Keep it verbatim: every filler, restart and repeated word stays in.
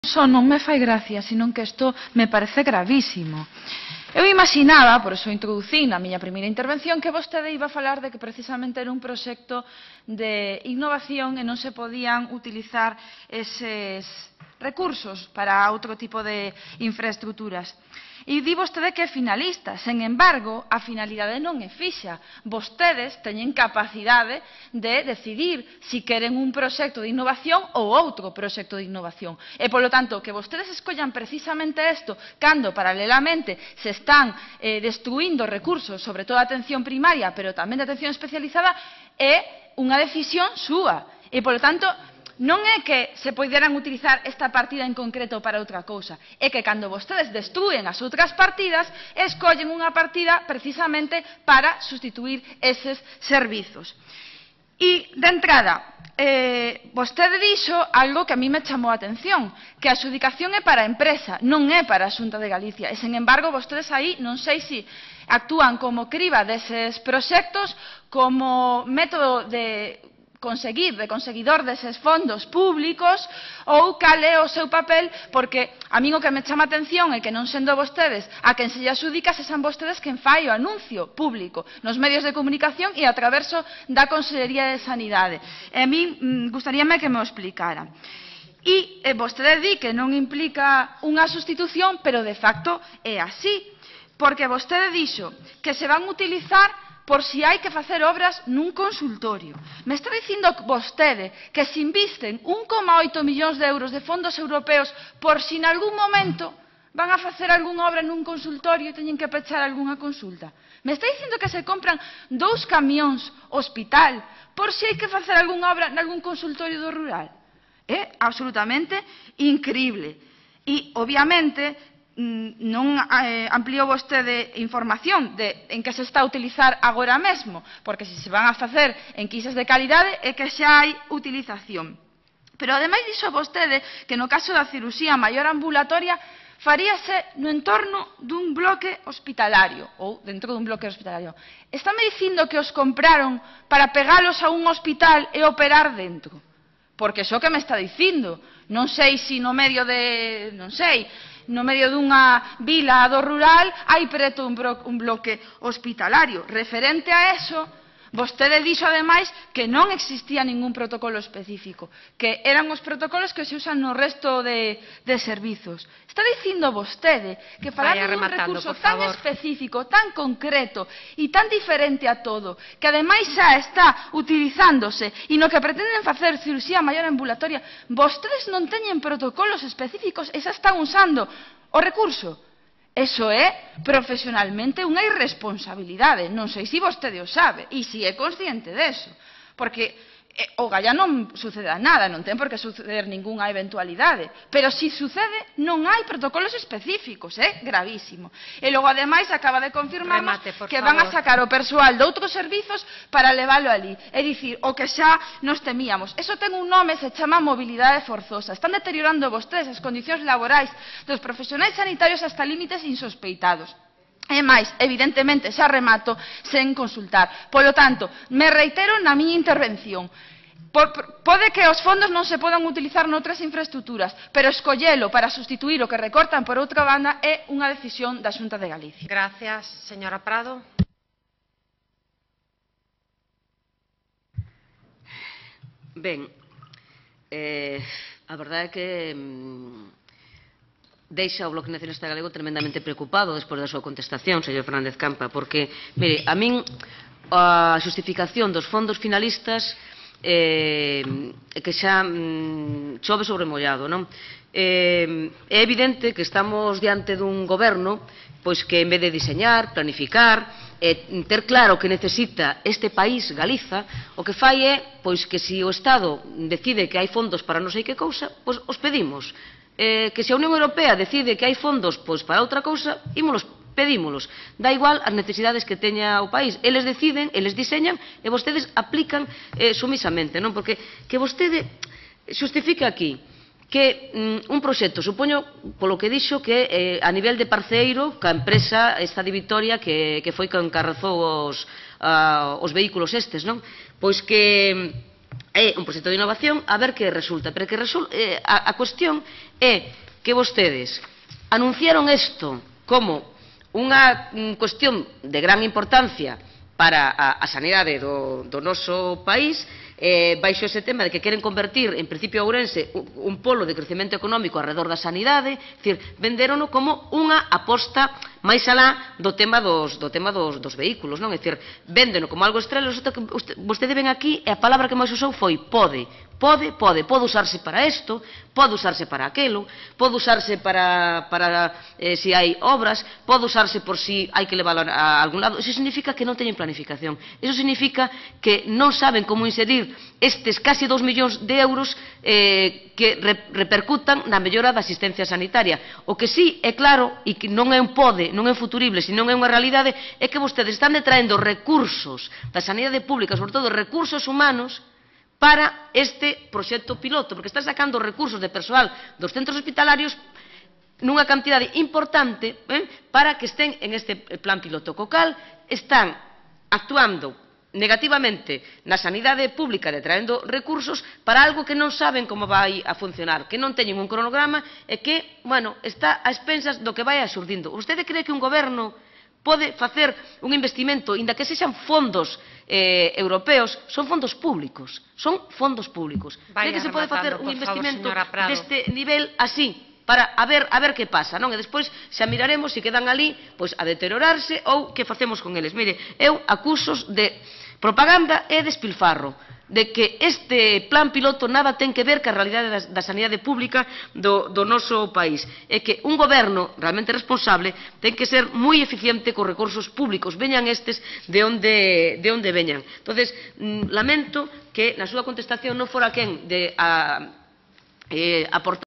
só non me fai gracia, senón que isto me parece gravísimo. Eu imaginaba, por iso introducín na miña primeira intervención, que vostede iba a falar de que precisamente era un proxecto de innovación e non se podían utilizar eses recursos para outro tipo de infraestructuras. E di vostede que é finalista, sen embargo, a finalidade non é fixa. Vostedes teñen capacidade de decidir se queren un proxecto de innovación ou outro proxecto de innovación. E, polo tanto, que vostedes escollan precisamente isto, cando, paralelamente, se están eh, destruindo recursos, sobre todo a atención primaria, pero tamén de atención especializada, é unha decisión súa. E, polo tanto, non é que se poderan utilizar esta partida en concreto para outra cousa, é que cando vostedes destrúen as outras partidas, escollen unha partida precisamente para sustituir eses servizos. E, de entrada, eh, vostede dixo algo que a mí me chamou a atención, que a adxudicación é para a empresa, non é para a Xunta de Galicia, e, sen embargo, vostedes aí non sei se actúan como criba deses proxectos, como método de conseguir, de conseguidor deses fondos públicos, ou cal é o seu papel, porque a min o que me chama a atención é que non sendo vostedes a quen se lle adxudica, se san vostedes quen fai o anuncio público nos medios de comunicación e a traverso da Consellería de Sanidade. E a min gustaríame que me o explicara. E eh, vostede di que non implica unha sustitución, pero de facto é así, porque vostede dixo que se van utilizar por si hai que facer obras nun consultorio. Me está dicindo vostede que se invisten un coma oito millóns de euros de fondos europeos por si en algún momento van a facer algunha obra nun consultorio e teñen que pechar algunha consulta. Me está dicindo que se compran dous camións hospital por si hai que facer algunha obra nalgún consultorio do rural. É absolutamente incrible. E, obviamente, non eh, ampliou vostede información de en que se está a utilizar agora mesmo, porque se se van a facer enquisas de calidade é que xa hai utilización. Pero, ademais, dixo vostede que no caso da cirurxía maior ambulatoria faríase no entorno dun bloque hospitalario, ou dentro dun bloque hospitalario. Estáme dicindo que os compraron para pegalos a un hospital e operar dentro? Porque iso que me está dicindo. Non sei se no medio de... non sei... no medio dunha vila do rural hai preto un, un bloque hospitalario. Referente a eso, vostede dixo ademais que non existía ningún protocolo específico, que eran os protocolos que se usan no resto de, de servizos. Está dicindo vostede que falando dun recurso tan específico, tan concreto e tan diferente a todo, que ademais xa está utilizándose e no que pretenden facer cirurxía maior ambulatoria, vostedes non teñen protocolos específicos e xa están usando o recurso. Eso é profesionalmente unha irresponsabilidade. Non sei se vostede o sabe e se é consciente deso. Porque eh, o galla non sucede nada, non ten por que suceder ningunha eventualidade. Pero se sucede, non hai protocolos específicos, é gravísimo. E logo, ademais, acaba de confirmarnos que van a sacar o persoal de outros servizos para leválo ali. É dicir, o que xa nos temíamos. Eso ten un nome, se chama mobilidade forzosa. Están deteriorando vostedes as condicións laborais dos profesionais sanitarios hasta límites insospeitados. E máis, evidentemente, xa remato sen consultar. Polo tanto, me reitero na miña intervención. Por, pode que os fondos non se podan utilizar noutras infraestructuras, pero escollelo para sustituir o que recortan por outra banda é unha decisión da Xunta de Galicia. Gracias, señora Prado. Ben, eh, a verdade é que... Mm, deixa o Bloque Nacionalista Galego tremendamente preocupado despois da súa contestación, señor Fernández Campa, porque, mire, a min a xustificación dos fondos finalistas eh, que xa mm, chove sobre mollado, non? Eh, é evidente que estamos diante dun goberno pois que en vez de diseñar, planificar, e ter claro que necesita este país, Galiza, o que fai é pois que se o Estado decide que hai fondos para non sei que cousa, pois os pedimos. Eh, que se a Unión Europea decide que hai fondos pois para outra cousa, ímolos, pedímolos. Da igual as necesidades que teña o país. Eles deciden, eles diseñan e vostedes aplican eh, sumisamente, non? Porque que vostede xustifique aquí que mm, un proxecto, supoño, polo que dixo que eh, a nivel de parceiro, ca empresa esta de Vitoria que, que foi que encarrazou os, uh, os vehículos estes, non? Pois que é un proxecto de innovación, a ver que resulta. Pero que resul eh, a, a cuestión é que vostedes anunciaron isto como unha cuestión de gran importancia para a, a sanidade do, do noso país, eh, baixo ese tema de que queren convertir, en principio Ourense, un, un polo de crecemento económico alrededor da sanidade, dicir, venderono como unha aposta máis alá do tema dos, do tema dos, dos vehículos, non? É dicir, véndeno como algo estrela, resulta que vostede ven aquí e a palabra que máis usou foi pode. Pode, pode, pode usarse para isto, pode usarse para aquelo, pode usarse para, para eh, si hai obras, pode usarse por si hai que leválo a, a algún lado. Eso significa que non teñen planificación. Eso significa que non saben como inserir estes casi dous millóns de euros eh, que re, repercutan na mellora da asistencia sanitaria. O que sí é claro, e que non é un pode, non é futurible, senón é unha realidade, é que vostedes están detraendo recursos da sanidade pública, sobre todo recursos humanos, para este proxecto piloto, porque están sacando recursos de persoal dos centros hospitalarios nunha cantidade importante eh, para que estén en este plan piloto. Co cal están actuando negativamente na sanidade pública, detraendo recursos para algo que non saben como vai a funcionar, que non teñen un cronograma e que, bueno, está a expensas do que vai asurdindo. Vostede cree que un goberno pode facer un investimento, inda que sexan fondos eh, europeos, son fondos públicos, son fondos públicos. Vaya Cree que se pode facer un por investimento favor, deste nivel así, para a ver, a ver que pasa, non? E despois xa miraremos se quedan ali pois, a deteriorarse ou que facemos con eles. Mire, eu acusos de propaganda e despilfarro, de que este plan piloto nada ten que ver ca realidade da, da sanidade pública do, do noso país. É que un goberno realmente responsable ten que ser moi eficiente cos recursos públicos, veñan estes de onde, de onde veñan. Entonces, lamento que na súa contestación non fora quen de a, eh, aportar